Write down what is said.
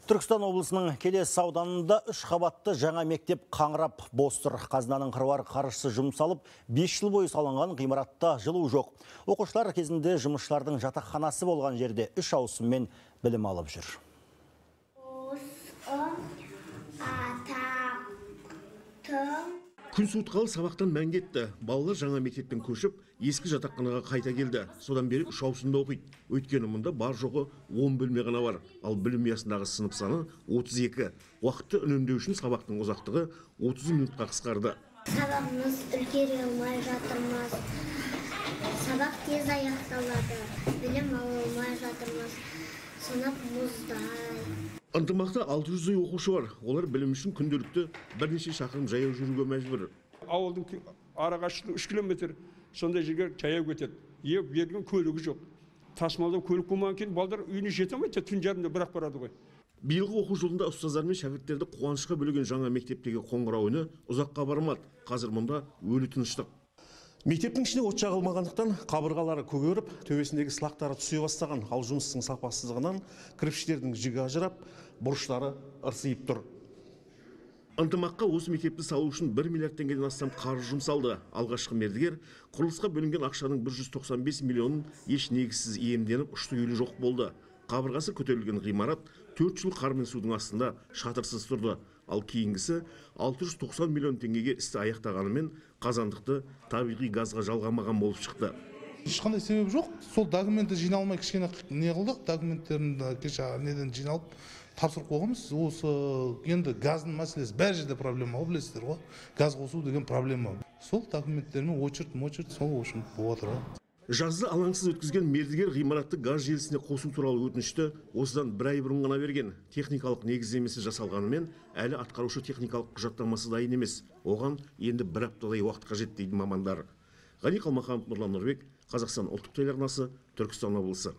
Түркістан облысының Келес ауданында 3 қабатты жаңа мектеп қаңырап бос тұр. Қазынаның қыруар қаржысы жұмсалып, 5 жыл бойы салынған ғимаратта жылу жоқ. Оқушылар кезінде жұмысшылардың жатақханасы болған жерде 3 ауысыммен білім алып жүр. Күн суытқалы сабақтан мән кетті. Балалар жаңа мектептен көшіп, ескі жатақханаға қайта келді. Содан бері 3 ауысымда оқиды. Өйткені мұнда бар жоғы 10 бөлме ғана бар. Ал білім ұясындағы сынып саны 32. Уақытты үнемдеу үшін сабақтың ұзақтығы 30 минутқа қысқарды. Сабағымыз үлгере алмай жатырмыз. Сабақ тез аяқталады. Білім ала алмай жатырмыз. Сынып мұздай. Ынтымақта 600-й оқушы бар. Олар білім үшін күнделікті бірнеше шақырым жаяу жүруге мәжбүр. Ауылдың арақашықтығы 3 километр, сондай жерге жаяу кетеді. Берген көлігі жоқ. Тасымалдау көлік болмаған кейін балдар үйіне жете алмайды, түн жарымда бірақ барады ғой. Биылғы оқу жылында ұстаздар мен шәкірттерді қуанышқа бөлеген жаңа мектептегі қоңырау үні ұзаққа бармады. Қазір мұнда өлі тыныштық. Мектептің ішіне от жағылмағандықтан қабырғалары көгеріп, төбесіндегі сылақтары түсе бастаған. Ал жұмыстың сапасыздығынан кірпіштердің жігі ажырап, бұрыштары ырсиып тұр. Ынтымаққа осы мектепті салу үшін 1 миллиард теңгеден астам қаржы жұмсалды. Алғашқы мердігер құрылысқа бөлінген ақшаның 195 миллионын еш негізсіз иемденіп, ұшты-күйлі жоқ болды. Қабырғасы көтерілген ғимарат 4 жыл қар мен судың астында шатырсыз тұрды. Ал кейінгісі 690 миллион теңгеге істі аяқтағанымен қазандықты табиғи газға жалғамаған болып шықты. Ешқандай себеп жоқ. Сол документі жиналмай кішкене не қылдық. Документтерді кеше неден жиналып тапсырып қойғанбыз. Осы енді газдың мәселесі бәр жерде проблема, білесіздер ғой. Газ қосу деген проблема. Сол документтермен очерт сол үшін болып отыр. Жазды алаңсыз өткізген мердігер ғимаратты газ желісіне қосу туралы өтінішті осыдан 1 ай бұрын ғана берген. Техникалық негіздемесі жасалғанымен әлі атқарушы техникалық құжаттамасы дайын емес. Оған енді 1 аптадай уақыт қажет дейді мамандар. Ғани Қалмаханов, Нұрлан Нұрбек, Қазақстан ұлттық телеарнасы, Түркістан облысы.